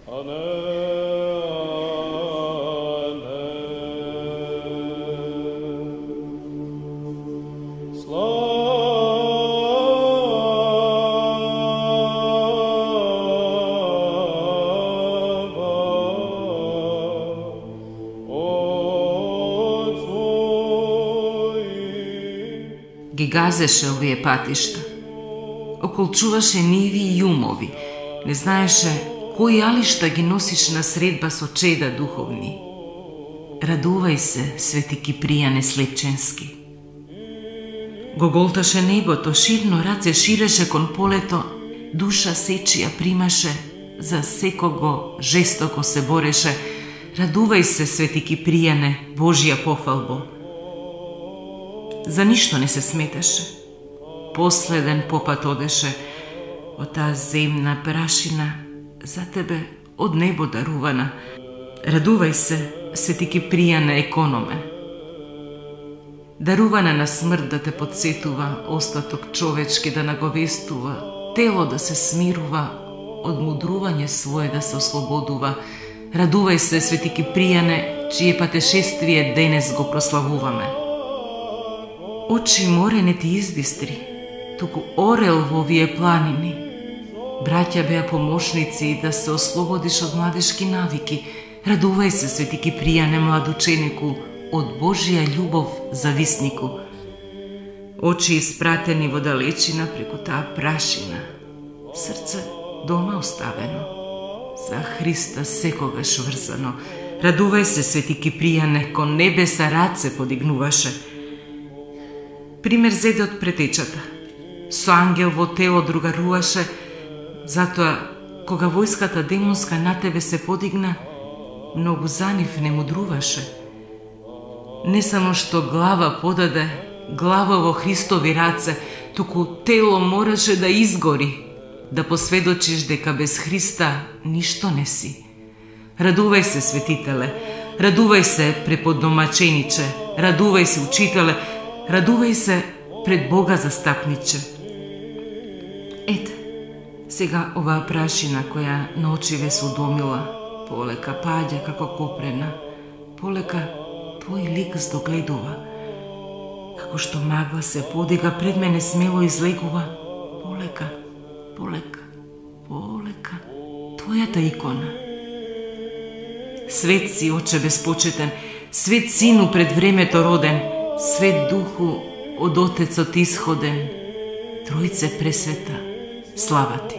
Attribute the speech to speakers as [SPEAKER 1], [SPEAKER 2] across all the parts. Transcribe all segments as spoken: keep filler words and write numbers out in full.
[SPEAKER 1] Ги газеше овие патишта. Околчуваше ниви и јумови. Не знаеше кои алишта ги носиш на средба со чеда духовни. Радувај се, свети Кипријане Слепченски. Го голташе небото, ширно раце ширеше кон полето, душа сечија примаше, за секого жестоко се бореше. Радувај се, свети Кипријане, Божја пофалбо. За ништо не се сметаше. Последен попат одеше од таа земна прашина, за тебе од небо дарувана. Радувај се, свети Кипријане економе. Дарувана на смрт да те подсетува, остаток човечки да наговестува, тело да се смирува, од мудрување свое да се ослободува. Радувај се, свети Кипријане, чие патешествие денес го прославуваме. Очи море не ти избистри, туку орел во овие планини. Браќа беа помошници да се ослободиш од младешки навики. Радувај се, свети Кипријане, млад ученику, од Божија љубов зависнику. Очи испратени во далечина преку таа прашина. Срце дома оставено, за Христа секогаш врзано. Радувај се, свети Кипријане, кон небеса раце подигнуваше. Пример зеде од претечата. Со ангел во тело другаруваше, затоа кога војската демонска на тебе се подигна, многу за нив не мудруваше. Не само што глава подаде, глава во Христови раце, туку тело мораше да изгори, да посведочиш дека без Христа ништо не си. Радувај се, светителе, радувај се, преподомачениче, радувај се, учителе, радувај се пред Бога застапниче. Ете, сега оваа прашина која на очиве се удомила, полека паѓа како копрена, полека твој лик здогледува. Како што магла се подига пред мене смело излегува, полека, полека, полека, твојата икона. Свет си, Оче безпочетен, свет Сину пред времето роден, свет Духу од Отецот исходен, Тројце пресвета, слава ти.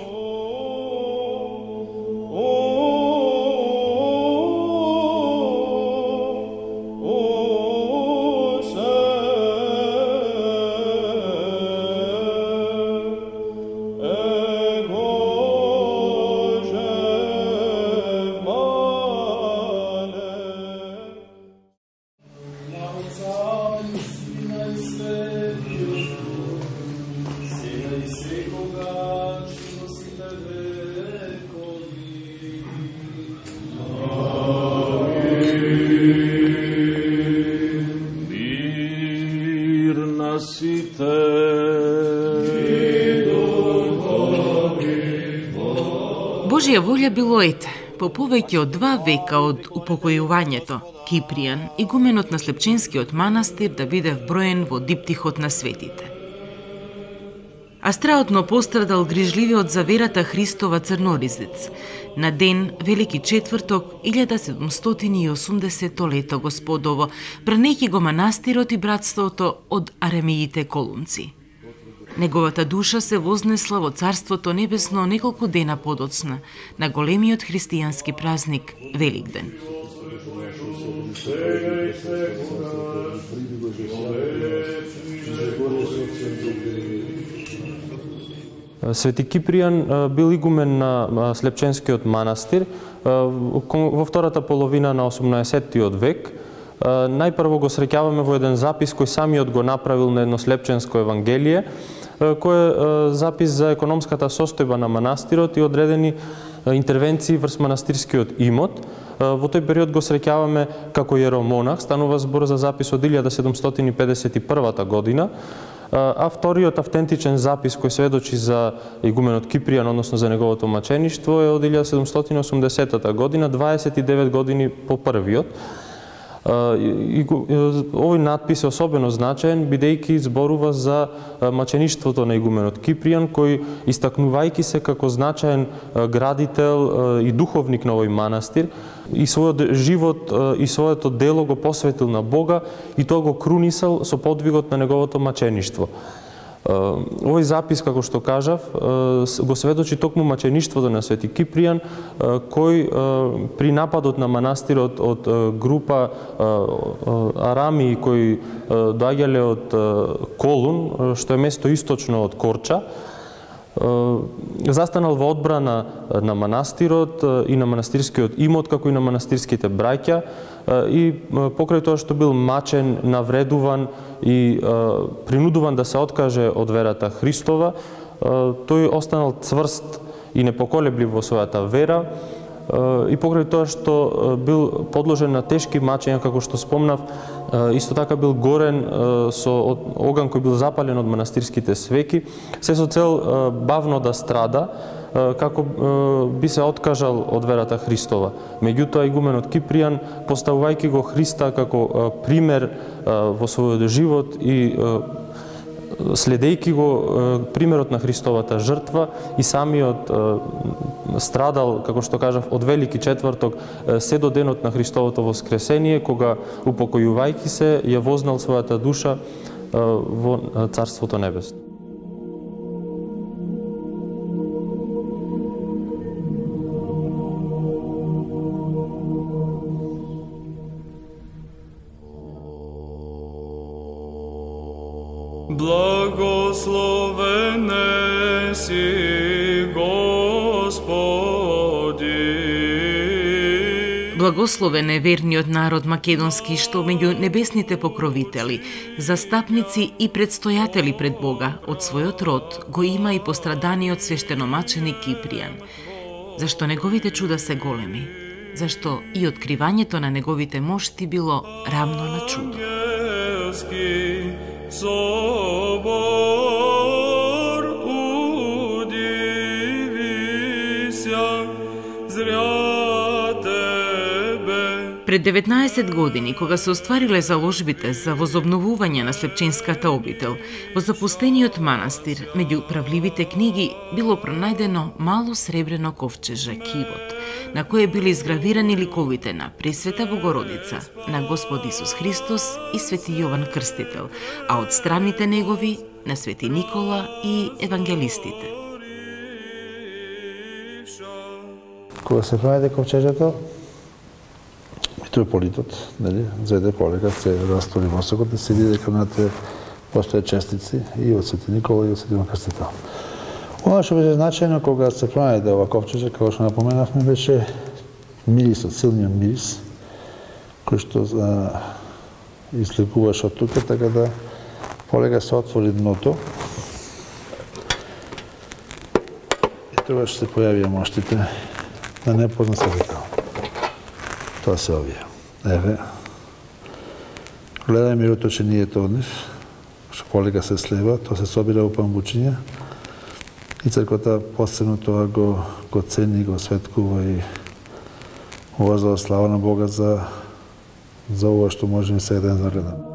[SPEAKER 1] Божја волја било ете, по повеќе од два века од упокојувањето, Кипријан, игуменот на Слепченскиот манастир, да биде вброен во диптихот на светите. Астраотно пострадал грижливиот за верата Христова црноризец, на ден Велики четврток илјада седумстотини и осумдесето лето Господово, бранејќи го манастирот и братството од аремиите колунци. Неговата душа се вознесла во Царството Небесно неколку дена подоцна, на големиот христијански празник Великден.
[SPEAKER 2] Свети Кипријан бил игумен на Слепченскиот манастир во втората половина на осумнаесеттиот век. Најпрво го среќаваме во еден запис кој самиот го направил на едно слепченско евангелие, кој е запис за економската состојба на манастирот и одредени интервенции врз манастирскиот имот. Во тој период го среќаваме како јеромонах, станува збор за запис од илјада седумстотини педесет и прва година. а вториот автентичен запис кој сведочи за игуменот Кипријан, односно за неговото мачеништво, е од илјада седумстотини и осумдесетата година, дваесет и девет години по првиот. Овој надпис е особено значаен, бидејќи зборува за мачеништвото на игуменот Кипријан, кој, истакнувајќи се како значаен градител и духовник на овој манастир, и својот живот и своето дело го посветил на Бога и тоа го крунисал со подвигот на неговото мачеништво. Овој запис, како што кажав, го сведочи токму мачеништвото на Свети Кипријан, кој при нападот на манастирот од група арамии кои доаѓале од Колун, што е место источно од Корча, застанал во одбрана на манастирот и на манастирскиот имот, како и на манастирските браќа, и покрај тоа што бил мачен, навредуван и принудуван да се откаже од верата Христова, тој останал цврст и непоколеблив во својата вера, и покрај тоа што бил подложен на тешки мачења, како што спомнав, исто така бил горен со оган кој бил запален од манастирските свеки, се со цел бавно да страда, како би се откажал од верата Христова. Меѓутоа, игуменот Кипријан, поставувајќи го Христа како пример во својот живот и следејќи го примерот на Христовата жртва, и самиот страдал, како што кажав, од Велики четврток се до денот на Христовото воскресение, кога, упокојувајќи се, ја вознал својата душа во Царството небесно.
[SPEAKER 3] Благословен си, Господи.
[SPEAKER 1] Благословен е верниот народ македонски, што меѓу небесните покровители, застапници и предстојатели пред Бога од својот род го има и постраданиот свештеномаченик Кипријан. Зашто неговите чуда се големи, зашто и откривањето на неговите мошти било рамно на чудо.
[SPEAKER 3] Собор удивися, зря тебе.
[SPEAKER 1] Пред деветнаесет години, кога се оствариле заложбите за возобновување на Слепченската обител, во запустениот манастир, меѓу правливите книги, било пронајдено мало сребрено ковчеже, кивот, на кое били изгравирани ликовите на Пресвета Богородица, на Господ Исус Христос и Свети Јован Крстител, а од страните негови на Свети Никола и евангелистите.
[SPEAKER 4] Кога се пронајде ковчежето, митрополитот, нели, зеде полека, се растори мозокот и се види дека внатре постојат честици и од Свети Никола и од Свети Јован Крстител. Оно што беше значајно кога се пронајде ова ковчеже, како што напоменавме, беше мирисот, силниот мирис, кој што излекуваше од тука, така да полека се отвори дното и тогаш се појавија моштите на непознат светител. Тоа се овие. Еве, гледај мироточението од нив, што полека се слева, тоа се собира во памбучиња, и црквата посебно тоа го, го цени, го светкува и воздава слава на Бога за, за ова што можеме сега ден да гледаме.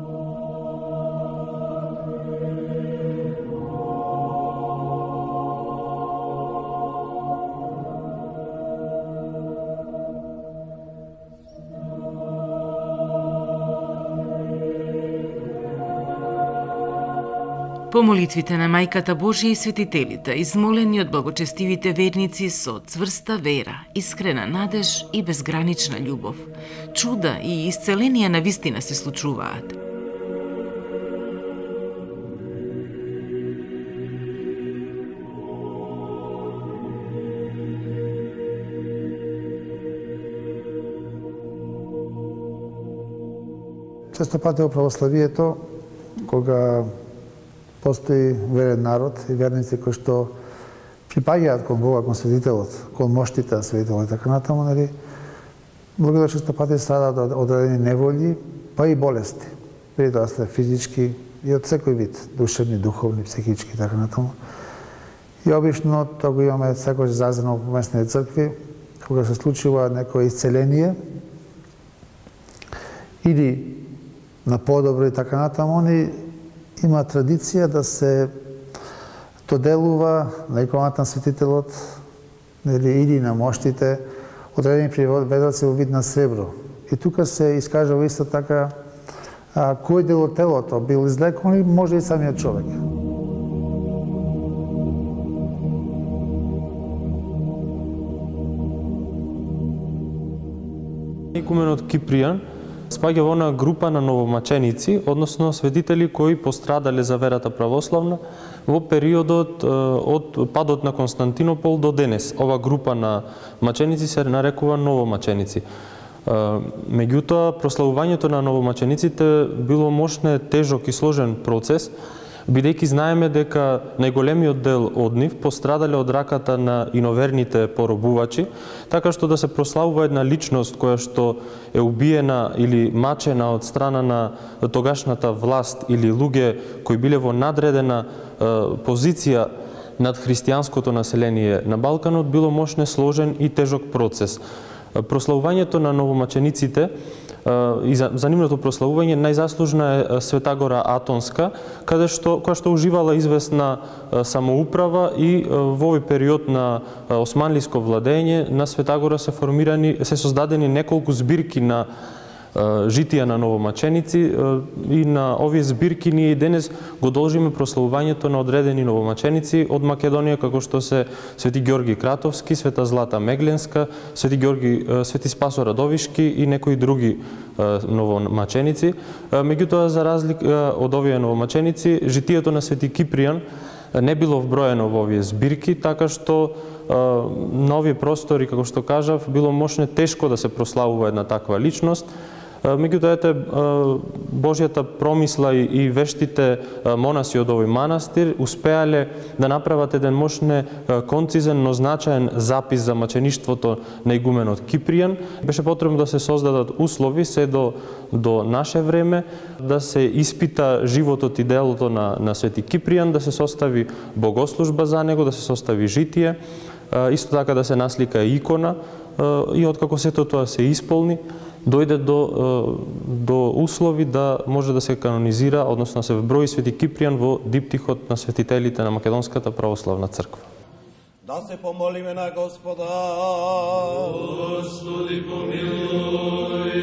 [SPEAKER 1] По молитвите на Мајката Божија и светителите, измолени од благочестивите верници со цврста вера, искрена надеж и безгранична љубов, чуда и исцеленија на вистина се случуваат.
[SPEAKER 4] Често пати во православието, кога постои верен народ и верници кои што припаѓаат кон Бога, кон светителот, кон моштите на светителот и така натаму, нели, благодарно често пати страдаат од одредени неволји, па и болести. Преди тоа се физички, и од секој вид, душевни, духовни, психички и така натаму. И обично тоа го имаме секојаш изразено во поместните цркви, кога се случува некое исцеление или на подобро и така натаму, они има традиција да се доделува на иконата на светителот или на моштите одредени приведоци во вид на сребро. И тука се искажува исто така а, кој дел од телото бил излекуван или може и самиот човек.
[SPEAKER 2] Икуменот Кипријан спаѓа во она група на новомаченици, односно светители кои пострадале за верата православна во периодот од падот на Константинопол до денес. Ова група на маченици се нарекува новомаченици. Меѓутоа, прославувањето на новомачениците било мощне, тежок и сложен процес, бидејќи знаеме дека најголемиот дел од нив пострадале од раката на иноверните поробувачи, така што да се прославува една личност која што е убиена или мачена од страна на тогашната власт или луѓе кои биле во надредена е, позиција над христијанското население на Балканот, било мощне, сложен и тежок процес. Прославувањето на новомачениците и за, за нивното прославување најзаслужна е Света Гора Атонска, каде што која што уживала известна самоуправа и во овој период на османлиско владење на Света Гора се формирани, се создадени неколку збирки на житија на новомаченици и на овие збирки ние и денес го должиме прославувањето на одредени новомаченици од Македонија, како што се Свети Ѓорги Кратовски, Света Злата Мегленска, Свети Ѓорги, Свети Спасо Радовишки и некои други новомаченици. Меѓутоа, за разлика од овие новомаченици, житието на Свети Кипријан не било вброено во овие збирки, така што на овие простори, како што кажав, било мощне тешко да се прославува една таква личност. Меѓутоа, ете, Божјата промисла и вештите монаси од овој манастир успеале да направат еден мощне концизен, но значаен запис за мачеништвото на игуменот Кипријан. Беше потребно да се создадат услови се до, до наше време, да се испита животот и делото на, на Свети Кипријан, да се состави богослужба за него, да се состави житие, исто така да се наслика икона и откако сето тоа се исполни, дојде до, до услови да може да се канонизира, односно да се вброи Свети Кипријан во диптихот на светителите на Македонската православна црква.
[SPEAKER 5] Да се помолиме на Господа.
[SPEAKER 3] Господи помилуј.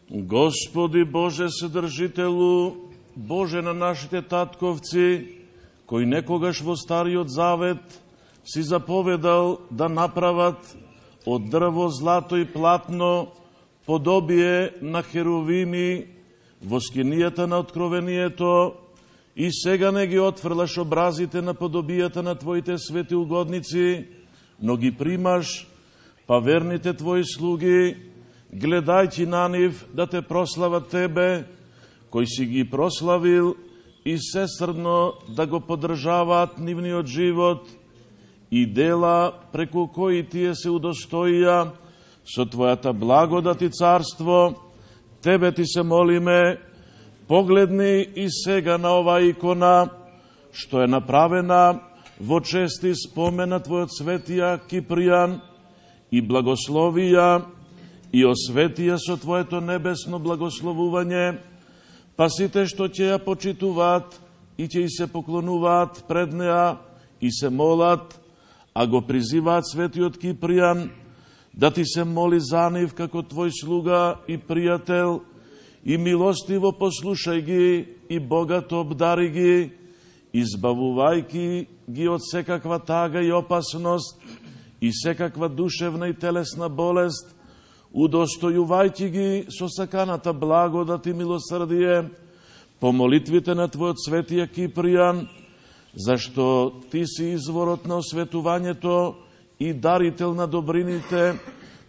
[SPEAKER 5] Господи Боже Содржителу, Боже на нашите татковци, кои некогаш во Стариот Завет си заповедал да направат од дрво, злато и платно подобие на херувими во скинијата на откровението, и сега не ги отфрлаш образите на подобијата на Твоите свети угодници, но ги примаш, па верните Твои слуги, гледајќи на нив да те прослават Тебе, кој си ги прославил и сесрдно да го поддржаваат нивниот живот и дела преку кои тие се удостоија со Твојата благодат и царство. Тебе Ти се молиме, погледни и сега на оваа икона, што е направена во чести спомен на Твојот светија Кипријан, и благословија и осветија со Твоето небесно благословување, па сите што ќе ја почитуваат и ќе и се поклонуваат пред неа и се молат, а го призиваат светиот Кипријан, да Ти се моли за нив како Твој слуга и пријател, и милостиво послушај ги и богато обдари ги, избавувајки ги од секаква тага и опасност и секаква душевна и телесна болест, удостојувајќи ги со саканата благодат и милосрдие по молитвите на Твојот светија Кипријан, зашто Ти си изворот на осветувањето и дарител на добрините,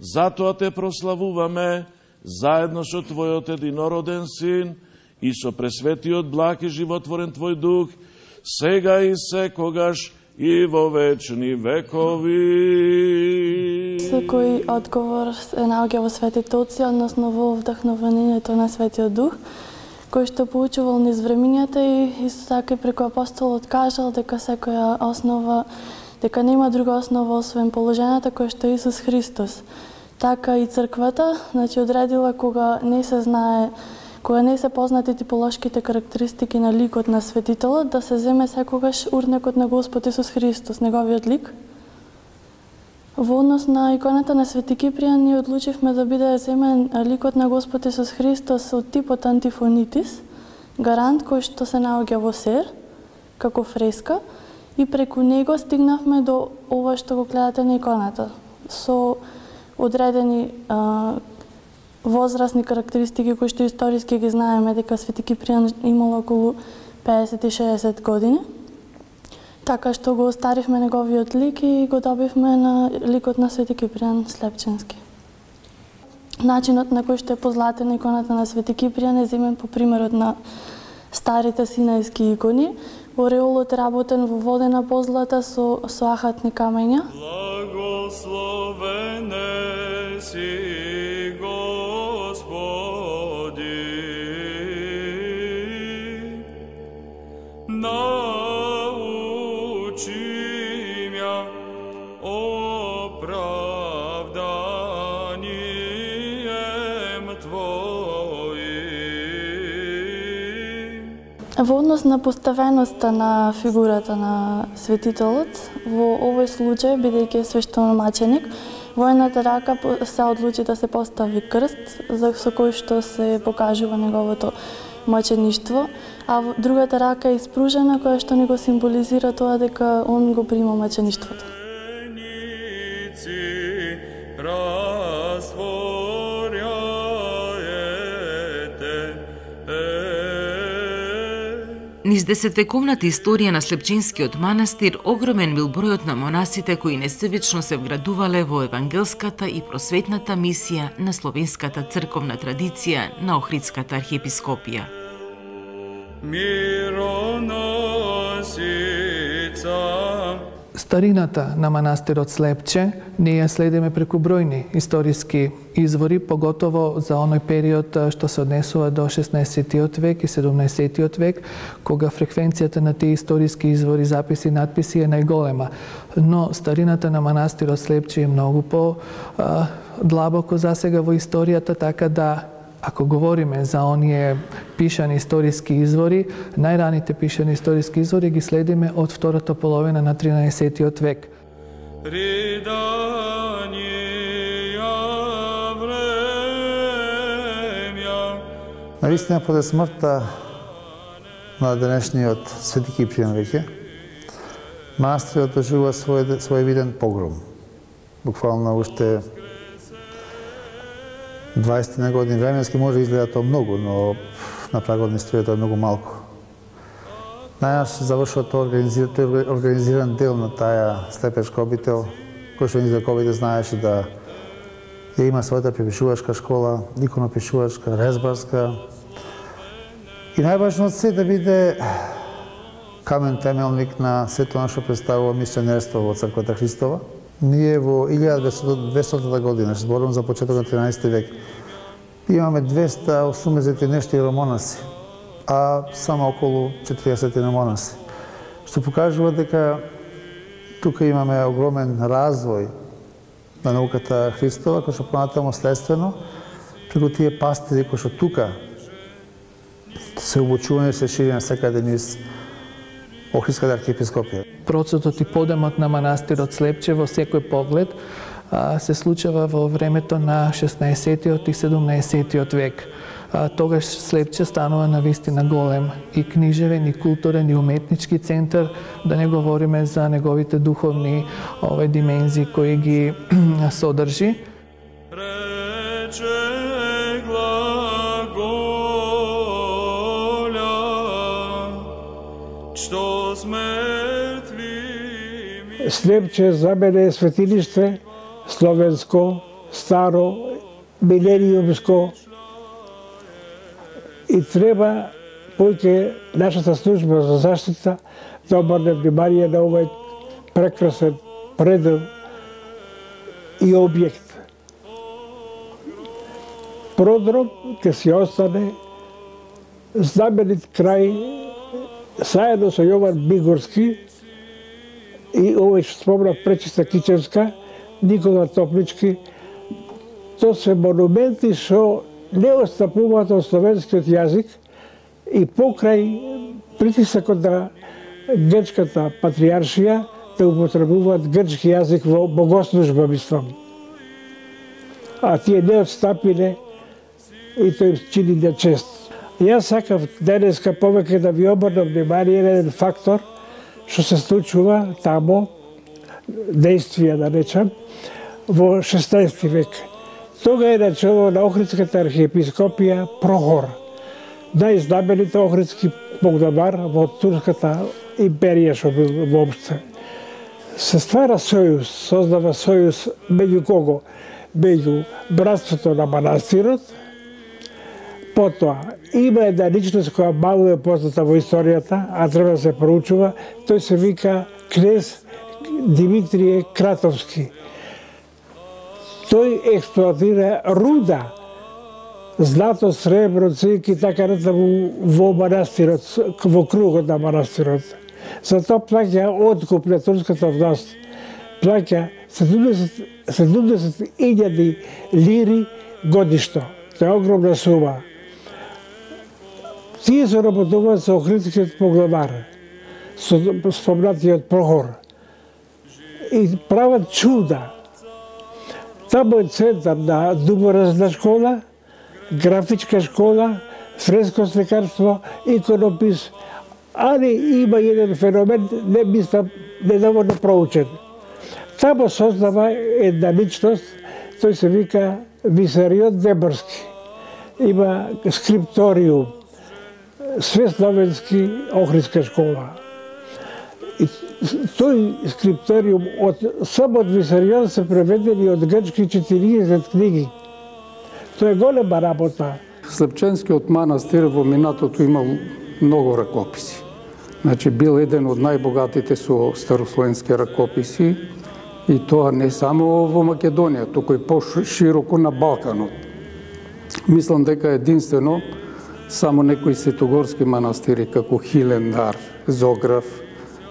[SPEAKER 5] затоа Те прославуваме заедно со Твојот единороден Син и со пресветиот благ и животворен Твој Дух, сега и секогаш и во вечни векови.
[SPEAKER 6] Секој одговор се наоѓа во светите Отци, односно во вдахновението на Светиот Дух. кој што поучувал низ времињата и исто така преку апостолот кажал дека секоја основа, дека нема друга основа освен положената која што е Исус Христос. Така и црквата, значи одредила кога не се знае, кога не се познати типолошките карактеристики на ликот на светителот, да се земе секогаш урнекот на Господ Исус Христос, неговиот лик. Во однос на иконата на Свети Кипријан, ние одлучивме да биде земен ликот на Господ Исус Христос од типот антифонитис, гарант кој што се наоѓа во сер, како фреска, и преку него стигнавме до ова што го гледате на иконата, со одредени а, возрастни карактеристики кои што историски ги знаеме, дека Свети Кипријан имал околу педесет и шеесет години. Така што го остаривме неговиот лик и го добивме на ликот на Свети Кипријан Слепченски. Начинот на кој што е позлатена иконата на Свети Кипријан е земен по примерот на старите синајски икони. Ореолот е работен во водена позлата со, со ахатни камења.
[SPEAKER 3] Благословене си, Господи, научи мја оправданием Твоим.
[SPEAKER 6] Во однос на поставеноста на фигурата на светителот, во овој случај, бидејќи е свештеномаченик, во едната рака се одлучи да се постави крст, за со кој што се покажува неговото мачеништво, а во другата рака е испружена, која што ни го символизира тоа дека он го прима мачеништвото.
[SPEAKER 1] Низ десетвековната историја на Слепченскиот манастир огромен бил бројот на монасите кои несебично се вградувале во евангелската и просветната мисија на словенската црковна традиција на Охридската архиепископија.
[SPEAKER 7] Старината на манастирот Слепче ние ја следиме преку бројни историски извори, поготово за оној период што се однесува до шеснаесеттиот век и седумнаесеттиот век, кога фреквенцијата на тие историски извори, записи и надписи е најголема. Но старината на манастирот Слепче е многу по а, длабоко засега во историјата, така да ако говориме за оние пишани историски извори, најраните пишани историски извори ги следиме од втората половина на тринаесеттиот век.
[SPEAKER 4] Наистина, поде смртта на денешниот Свети Кипријан веќе, манастирот доживува свој, свој виден погром. Буквално уште дваесет години временски може да изгледа тоа многу, но на прагот на историјата е многу малку. Најнаш завршува тоа организиран, организиран дел на таа слепешка обител, кој што низ вековите знаеше да ја има својата препишувачка школа, иконопишувачка, резбарска. И најважно од се да биде камен темелник на сето нашо представува мисионерство во Црквата Христова. Ние во илјада двестота година, што зборувам за почеток на тринаесети век, имаме двеста осумдесет и нешто иеромонаси, а само околу четириесет монаси, што покажува дека тука имаме огромен развој на науката Христова, кој што понатамо следствено, преку тие пастири кои што тука се обучување и се шири насекаде низ Охридската архиепископија.
[SPEAKER 7] Процесот и подемот на манастирот Слепче во секој поглед се случува во времето на шеснаесеттиот и седумнаесеттиот век. Тогаш Слепче станува навистина голем и книжевен, и културен, и уметнички центар, да не говориме за неговите духовни ове димензии кои ги содржи.
[SPEAKER 8] Слепче за мене е светилиште, словенско, старо, милениумско, и треба поќе нашата служба за заштита да обрне внимание на овој прекрасен предел и објект. Продром ќе си остане знаменит крај заедно со Јован Бигорски и овој што спомнав Пречиста Кичевска, Никола Топлички, тоа се монументи што не отстапуваат од словенскиот јазик и покрај притисакот на грчката патријаршија да употребуваат грчки јазик во богослужба, мислам. А тие не отстапиле и тој чини на чест. Јас сакав денеска повеќе да ви обрнам внимание на еден фактор што се случува тамо, действија да речам, во шеснаесети век. Тога е начело на Охридската архиепископија Прохор, најзнаменит охридски погламар во Турската империја што бил воопште. Се ствара сојуз, создава сојуз меѓу кого? Меѓу братството на манастирот. Потоа, има една личност која мало е позната во историјата, а треба да се проучува, тој се вика кнез Димитрije Кратовски. Тој експлоатира руда, злато, сребро, цинк и така натаму во манастирот, во кругот на манастирот. Затоа плаќа откуп на турската власт. Плаќа седумдесет илјади лири годишно. Тоа е огромна сума. Тие се работуваат со охридскиот погламар, со спомнатиот Прохор. И прават чуда. Тамо е центар на думоразна школа, графичка школа, фреско слекарство, иконопис, али има еден феномен, не мислам, недоволно проучен. Тамо создава една личност, тој се вика Висарион Деборски. Има скрипториум, свесловенски охридска школа. И тој скрипториум од само од Висарион се преведени од грчки четириесет книги. Тоа е голема работа.
[SPEAKER 9] Слепченскиот манастир во минатото имал многу ракописи. Значи бил еден од најбогатите со старословенски ракописи и тоа не само во Македонија, туку и пошироко на Балканот. Мислам дека единствено само некои светогорски манастири како Хилендар, Зограф,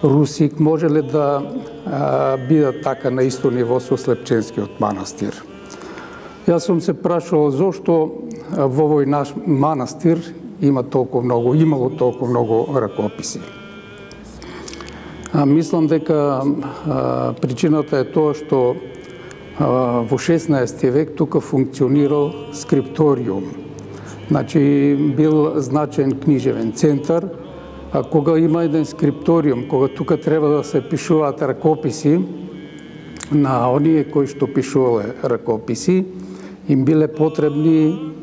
[SPEAKER 9] Русик можеле да а, бидат така на исто ниво со Слепченскиот манастир. Јас сум се прашувал зошто во овој наш манастир има толку многу, имало толку многу ракописи. А, мислам дека а, причината е тоа што а, во шеснаесети век тука функционирал скрипториум. Значи бил значен книжевен центар, а кога има еден скрипториум, кога тука треба да се пишуваат ракописи на оние кои што пишувале ракописи, им биле потребни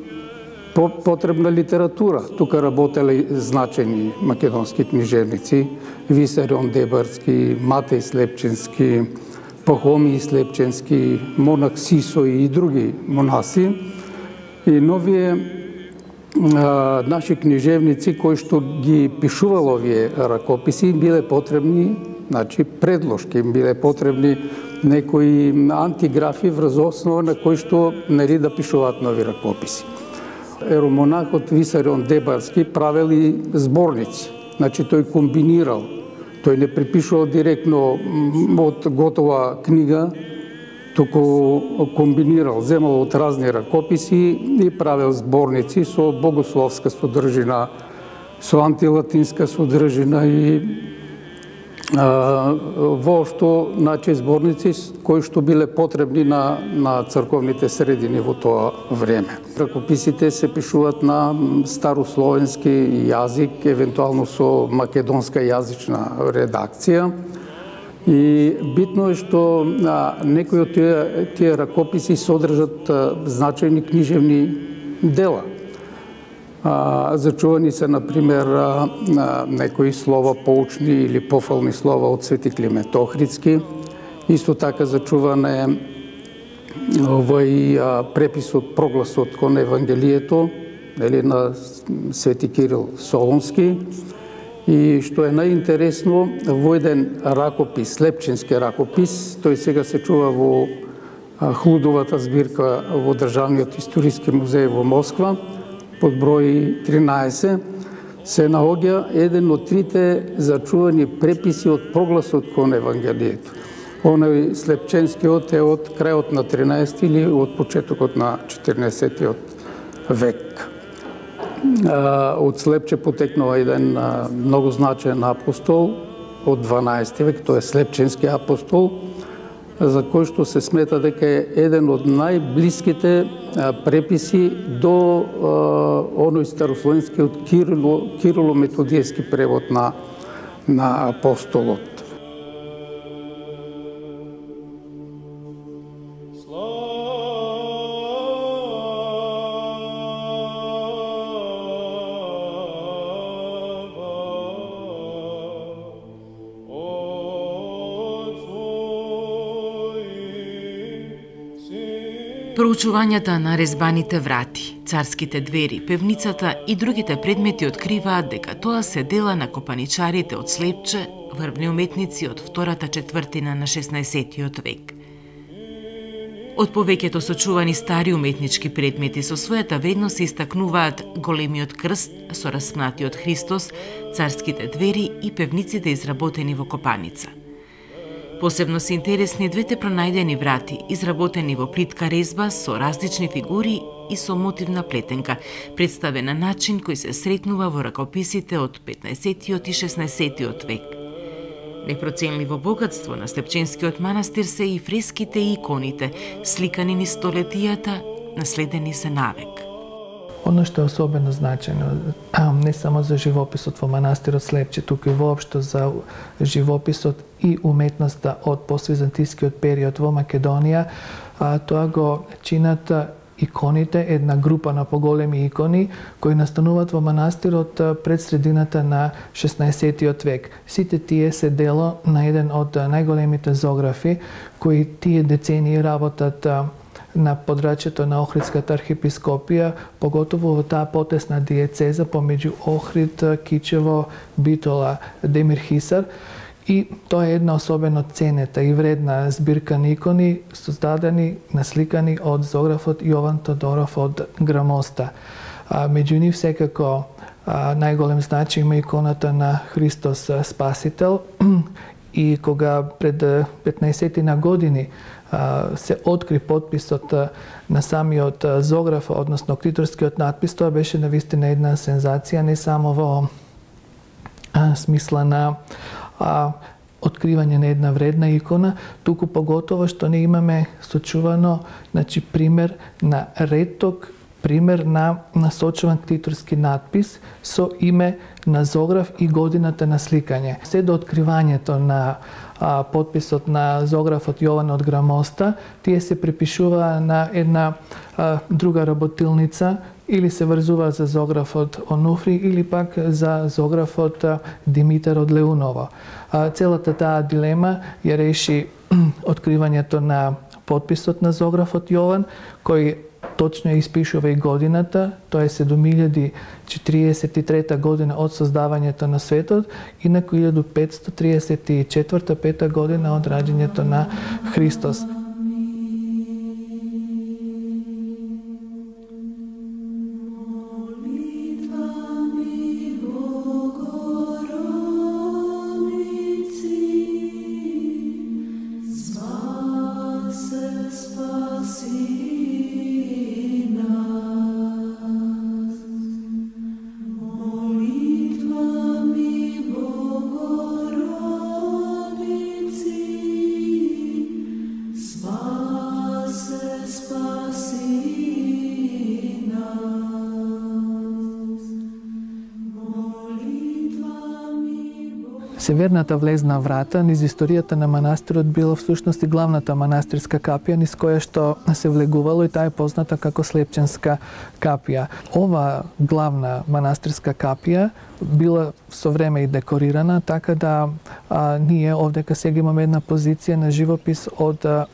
[SPEAKER 9] потребна литература. Тука работеле значени македонски книжевници, Висарион Деборски, Матеј Слепченски, Пахомий Слепченски, монах Сисо и други монаси. И новие а, наши книжевници кои што ги пишувало овие ракописи биле потребни, значи предложки, биле потребни некои антиграфи врз основа на кои што нели да пишуваат нови ракописи. Еромонахот Висарион Деборски правел и зборници. Значи тој комбинирал, тој не припишувал директно од готова книга, туку комбинирал, земал од разни ракописи и правел зборници со богословска содржина, со антилатинска содржина и а, воопшто, значи, зборници кои што биле потребни на, на црковните средини во тоа време. Ракописите се пишуваат на старословенски јазик, евентуално со македонска јазична редакција. И битно е што а, некои од тие, тие ракописи содржат а, значајни книжевни дела. А, зачувани се, например, а, а, некои слова поучни или пофални слова од Свети Климент Охридски. Исто така зачуван е овој а, преписот, прогласот кон Евангелието, или на Свети Кирил Солунски. И што е најинтересно, во еден ракопис, Слепченски ракопис, тој сега се чува во Хлудовата збирка во Државниот историски музеј во Москва, под број тринаесет, се наоѓа еден од трите зачувани преписи од прогласот кон Евангелието. Оној слепченскиот е од крајот на тринаесети или од почетокот на четирнаесеттиот век. Од Слепче потекнува еден многу значаен апостол од дванаесети век, тој е Слепченски апостол, за кој што се смета дека е еден од најблиските преписи до оној старословенскиот Кирило, Кирило-методијски превод на, на апостолот.
[SPEAKER 1] Проучувањата на резбаните врати, царските двери, певницата и другите предмети откриваат дека тоа се дела на копаничарите од Слепче, врвни уметници од втората четвртина на шеснаесеттиот век. Од повеќето сочувани стари уметнички предмети со својата вредност се истакнуваат големиот крст со распнатиот Христос, царските двери и певниците изработени во копаница. Посебно се интересни двете пронајдени врати, изработени во плитка резба со различни фигури и со мотивна плетенка, представен на начин кој се сретнува во ракописите од петнаесеттиот и шеснаесеттиот век. Непроценливо богатство на Слепченскиот манастир се и фреските и иконите, сликани низ столетијата, наследени се навек.
[SPEAKER 7] Оно што е особено значајно, не само за живописот во манастирот Слепче, туку и воопшто за живописот и уметноста од поствизантискиот период во Македонија, тоа го чинат иконите, една група на поголеми икони кои настануваат во манастирот пред средината на шеснаесеттиот век. Сите тие се дело на еден од најголемите зографи кои тие децении работат на подрачјето на Охридската архиепископија, поготово во таа потесна диецеза помеѓу Охрид, Кичево, Битола, Демир Хисар. И тоа е една особено ценета и вредна збирка на икони создадени, насликани од зографот Јован Тодоров од Грамоста. А, меѓу нив секако а, најголем значај има иконата на Христос Спасител и кога пред петнаесеттина години а, се откри подписот на самиот зограф, односно криторскиот надпис, тоа беше навистина една сензација, не само во а, смисла на а, откривање на една вредна икона, туку поготово што не имаме сочувано, значи, пример на реток, пример на насочуван криторски надпис со име на зограф и годината на сликање. Се до откривањето на а, подписот на зографот Јован од Грамоста, тие се припишува на една а, друга работилница, или се врзува за зографот Онуфри, или пак за зографот Димитар од Леуново. Целата таа дилема ја реши откривањето на подписот на зографот Јован, кој точно ја испишува и годината, тоа е седум илјади четиридесет и трета година од создавањето на светот, инаку илјаду петстотини триесет и четврта пета година од раѓањето на Христос. Северната влезна врата низ историјата на манастирот била всушност и главната манастирска капија низ која што се влегувало, и таа е позната како Слепченска капија. Ова главна манастирска капија била со време и декорирана, така да а, ние овдека сега имаме една позиција на живопис од а,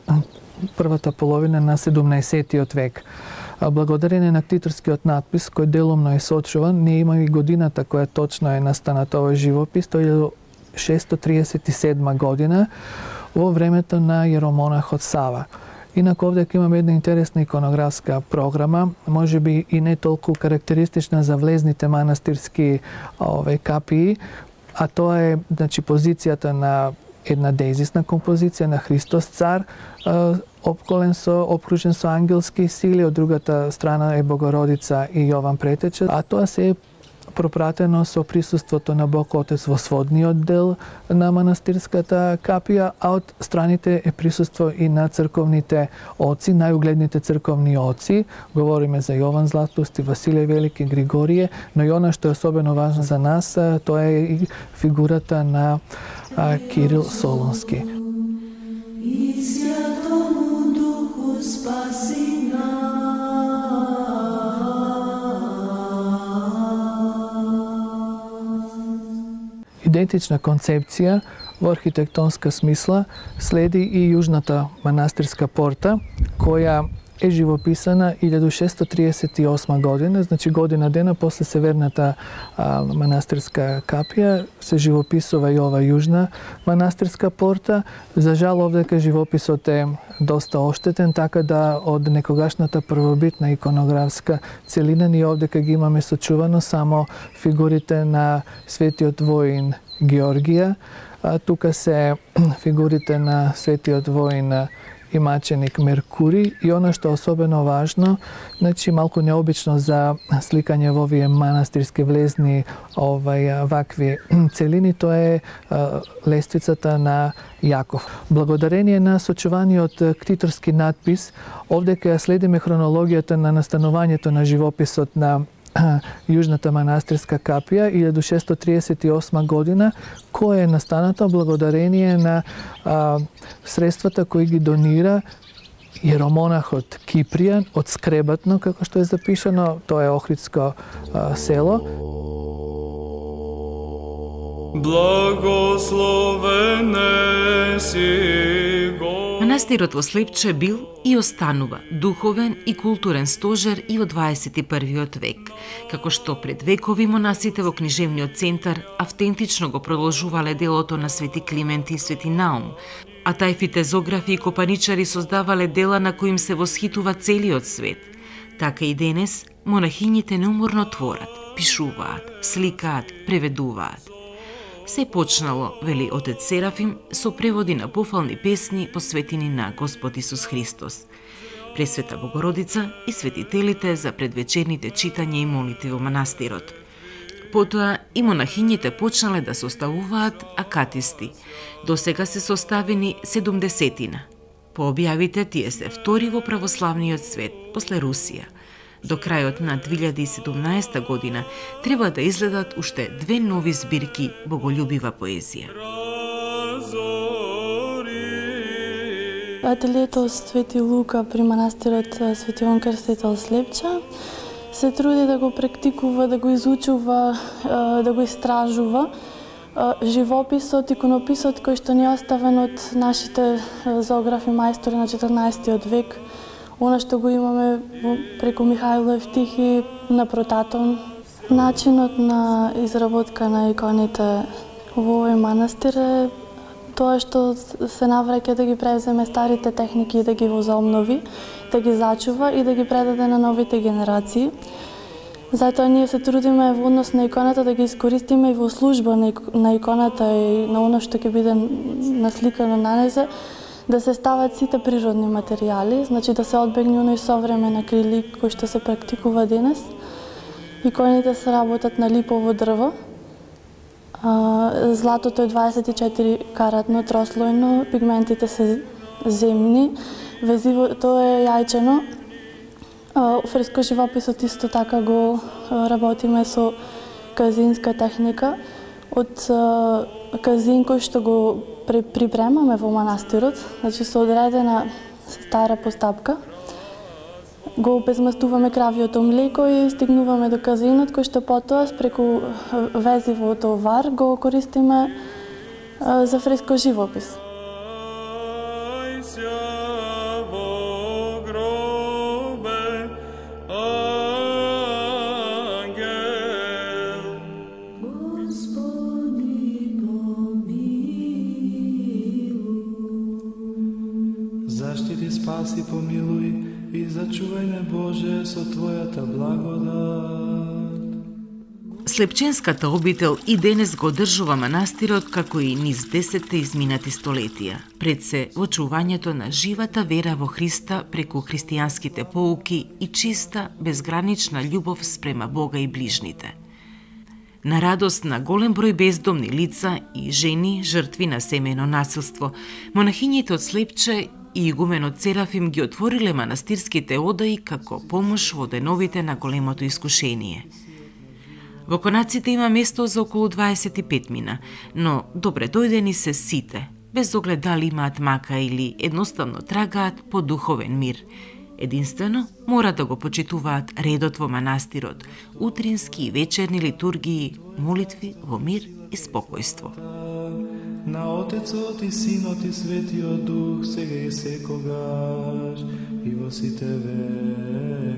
[SPEAKER 7] првата половина на седумнаесеттиот век. Благодарение на криторскиот надпис, кој делумно е сочуван, ние имаме и годината која точно е настанат овој живопис, тоа е шестстотини триесет и седма година, во времето на јеромонахот Сава. Инаку овдека имаме една интересна иконографска програма, може би и не толку карактеристична за влезните манастирски ове капии, а тоа е, значи, позицијата на една деизисна композиција на Христос цар, обколен со, обкружен со ангелски сили, од другата страна е Богородица и Јован Претече, а тоа се е пропратено со присуството на Бог Отец во сводниот дел на манастирската капија, а од страните е присуство и на црковните оци, најугледните црковни оци. Говориме за Јован Златоуст, Василе Велики, Григорие, но и она што е особено важно за нас, тоа е и фигурата на Кирил Солунски.
[SPEAKER 10] И Святому Духу спаси нас.
[SPEAKER 7] Идентична концепција во архитектонска смисла следи и јужната манастирска порта, која е живописана илјада шестsto триесет и осма година, значи година дена после северната а, манастирска капија, се живописува и ова јужна манастирска порта. За жал, овдека живописот е доста оштетен, така да од некогашната првобитна иконографска целина ние овдека ги имаме сочувано само фигурите на светиот воин Георгија. А, тука се фигурите на светиот воин и маченик Меркури, и она што е особено важно, значи малку необично за сликање во овие манастирски влезни овај вакви целини, тоа е а, лествицата на Јаков. Благодарение на сочуваниот ктиторски надпис, овдека ја следиме хронологијата на настанувањето на живописот на јужната манастирска капија илјада шестsto триесет и осма година, која е настаната благодарение на а, средствата кои ги донира јеромонахот Кипријан од Скребатно, како што е запишано, тоа е Охридско а, село.
[SPEAKER 3] Благословене си го.
[SPEAKER 1] Манастирот во Слепче бил и останува духовен и културен стожер и во дваесет и првиот век, како што пред векови монасите во книжевниот центар автентично го продолжувале делото на Свети Климент и Свети Наум, а тајфите зографи и копаничари создавале дела на кои им се восхитува целиот свет. Така и денес монахињите неуморно творат, пишуваат, сликаат, преведуваат. Се почнало, вели отец Серафим, со преводи на пофални песни посветени на Господ Исус Христос, Пресвета Богородица и светителите за предвечерните читања и молитви во манастирот. Потоа и монахињите почнале да составуваат акатисти. До сега се составени седумдесетина. По објавите тие се втори во православниот свет, после Русија. До крајот на две илјади и седумнаесета година треба да изгледат уште две нови збирки боголюбива поезија.
[SPEAKER 6] Ателието Свети Лука при манастирот Свети Јован Крстител Слепча се труди да го практикува, да го изучува, да го истражува живописот, иконописот кој што не е оставен од нашите зоографи мајстори на четрнаесеттиот век, она што го имаме преку Михаил Евтихи на Протатон. Начинот на изработка на иконите во овој манастир е тоа што се навраќа да ги превземе старите техники и да ги возобнови, да ги зачува и да ги предаде на новите генерации. Затоа ние се трудиме во однос на иконата да ги искористиме и во служба на иконата и на оно што ќе биде насликано на незе, да се стават сите природни материјали, значи да се одбегне оној современ акрилик кој што се практикува денес. Иконите се работат на липово дрво. Златото е дваесет и четири каратно, трослојно, пигментите се земни, везивото е јајчено. Фреско живописот исто така го работиме со казинска техника. Од казин кој што го припремаме во манастирот, значи со одредена стара постапка, го обезмастуваме кравиото млеко и стигнуваме до казинот, кој што потоа преку везивото вар го користиме за фреско живопис.
[SPEAKER 11] Спаси, Помагај ме, Боже, со Твојата благодат.
[SPEAKER 1] Слепченската обител и денес го одржува манастирот како и низ десетте изминати столетија, пред се во чувањето на живата вера во Христа преку христијанските поуки и чиста, безгранична љубов спрема Бога и ближните. На радост на голем број бездомни лица и жени жртви на семејно насилство, монахињите од Слепче и игуменот Серафим ги отвориле манастирските одаи како помош во деновите на големото искушение. Во конаците има место за околу дваесет и пет мина, но добре дојдени се сите, без оглед дали имаат мака или едноставно трагаат по духовен мир. Единствено, мора да го почитуваат редот во манастирот, утрински и вечерни литургии, молитви во мир и спокојство.
[SPEAKER 11] На Отецот и Синот и Светиот Дух, сега и секогаш, и во сите векови.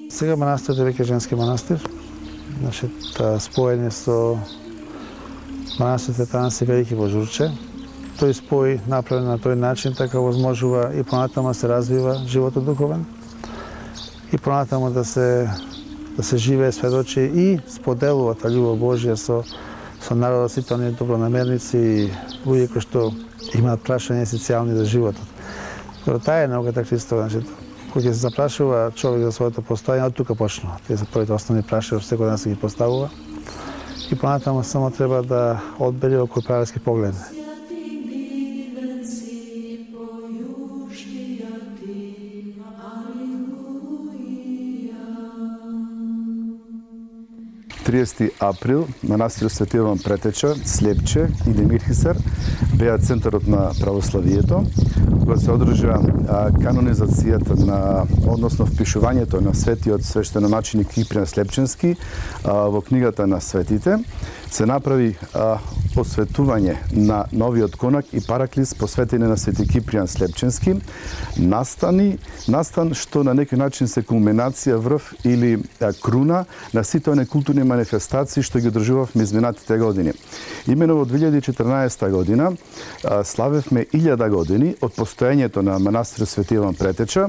[SPEAKER 4] Сега манастирот е веќе женски манастир. Значит, споење со манастирот Танаси Велики во Журче. Тој спој направен на тој начин така возможува и понатаму да се развива животот духовен и понатаму да се да се живее, сведочи и споделува таа љубов Божја со со народот, сите оние добронамерници и луѓе кои што имаат прашања есенцијални за животот. Таа е науката Христова, значи кога се запрашува човек за своето постојање, од тука почнува. Тие се првите основни прашања што секој ден се ги поставува и понатаму само треба да одбери во кој правец ги погледне.
[SPEAKER 12] триесети април манастирот Свети Јован Претеча, Слепче и Демирхисар беа центарот на православието, кога се одржа канонизацијата на, односно впишувањето на светиот свештеноначеник Кипријан Слепченски во книгата на светите, се направи а, посветување на новиот конак и параклис посветени на Свети Кипријан Слепченски, настани, настан што на некој начин се кулминација, врв или а, круна на сите оние културни манифестации што ги одржувавме изминатите години. Имено во две илјади и четрнаесета година а, славевме илјада години од постоењето на манастирот Свети Јован Претеча,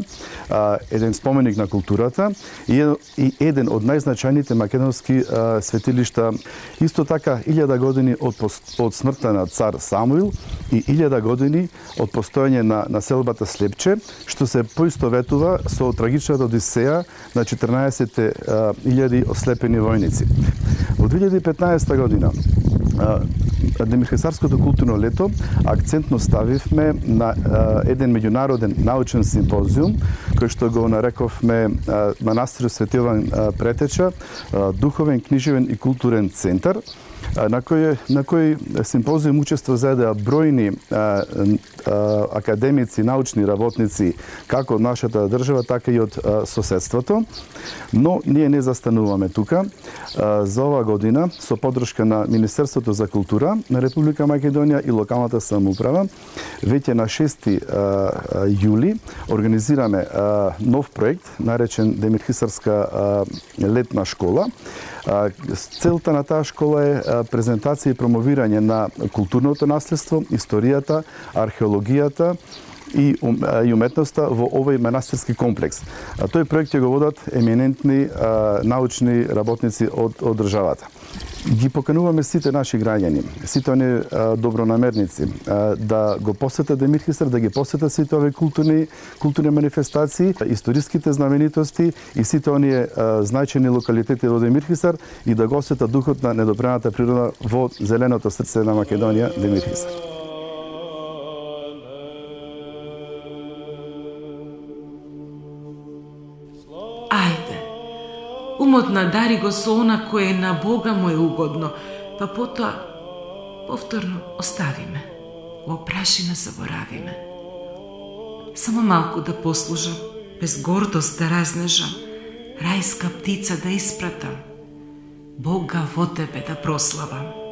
[SPEAKER 12] а, еден споменик на културата и, и еден од најзначајните македонски а, светилишта. Исто така илјада години од, од смртта на цар Самуил и илјада години од постоење на населбата Слепче, што се поистоветува со трагичната одисеја на четрнаесет илјади ослепени војници. Во две илјади и петнаесета година Демирхисарското културно лето акцентно ставивме на еден меѓународен научен симпозиум кој што го нарековме манастирот Свети Јован Претеча, духовен, книжевен и културен центар, на кој на кој симпозиум учество заедеа бројни а, а, академици, научни работници како од нашата држава, така и од а, соседството. Но ние не застануваме тука. А, за ова година со поддршка на Министерството за култура на Република Македонија и локалната самоуправа, веќе на шести јули организираме а, нов проект наречен Демирхисарска а, летна школа. Целта на таа школа е презентација и промовирање на културното наследство, историјата, археологијата и уметноста во овој манастирски комплекс. Тој проект ќе го водат еминентни научни работници од, од државата. Ги покануваме сите наши граѓани, сите оние добронамерници да го посетат Демирхисар, да ги посетат сите овие културни културни манифестации, историските знаменитости и сите оние значајни локалитети во Демирхисар и да го осетат духот на недопрената природа во зеленото срце на Македонија, Демирхисар.
[SPEAKER 1] Умот надари го со она кое на Бога му е угодно, па потоа повторно оставиме, во прашина заборавиме. Само малку да послужам, без гордост да разнежам, рајска птица да испратам, Бога во тебе да прославам.